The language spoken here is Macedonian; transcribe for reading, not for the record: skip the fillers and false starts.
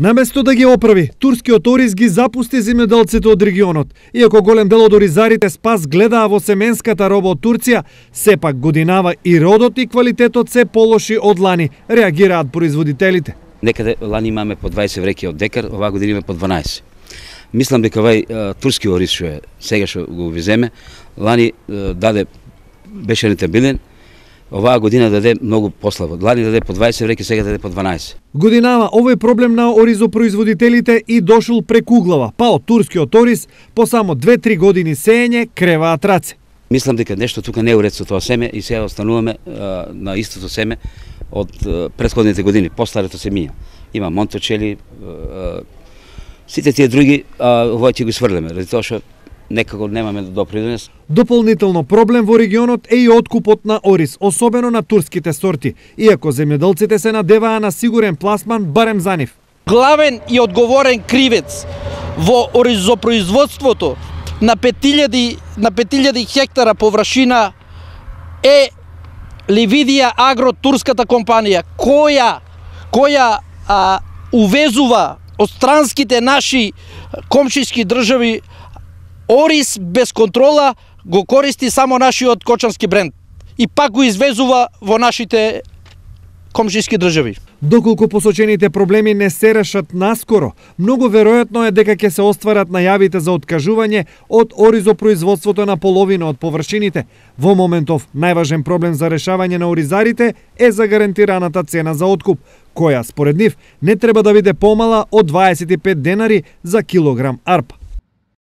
Наместо да ги оправи, турскиот ориз ги запусти земјоделците од регионот. Иако голем дел од оризарите спас гледаа во семенската роба од Турција, сепак годинава и родот и квалитетот се полоши од лани, реагираат производителите. Некаде лани имаме по 20 вреки од декар, оваа година имаме по 12. Мислам дека овај турски ориз што е сега што го увеземе, лани беше рентабилен, оваа година даде многу послабо. Лани даде по 20 вреки, сега даде по 12. Годинава овој проблем на оризопроизводителите и дошол преку глава, па од турскиот ориз по само 2-3 години сеење креваат раце. Мислам дека нешто тука не е уред со тоа семе и сега остануваме на истото семе од претходните години. Постарето се мија. Има Монточели, сите тие други, овој ќе го сврлеме, ради тоа што некако немаме допринес. Дополнително проблем во регионот е и откупот на ориз, особено на турските сорти, иако земјоделците се надеваа на сигурен пласман барем за нив. Главен и одговорен кривец во оризопроизводството на 5000 хектара површина е Ливидија Агро, турската компанија, која увезува од странските наши комшиски држави ориз без контрола, го користи само нашиот кочански бренд и пак го извезува во нашите комшиски држави. Доколку посочените проблеми не се решат наскоро, многу веројатно е дека ќе се остварат најавите за откажување од оризопроизводството на половина од површините. Во моментов најважен проблем за решавање на оризарите е загарантираната цена за откуп, која според нив не треба да биде помала од 25 денари за килограм арпа.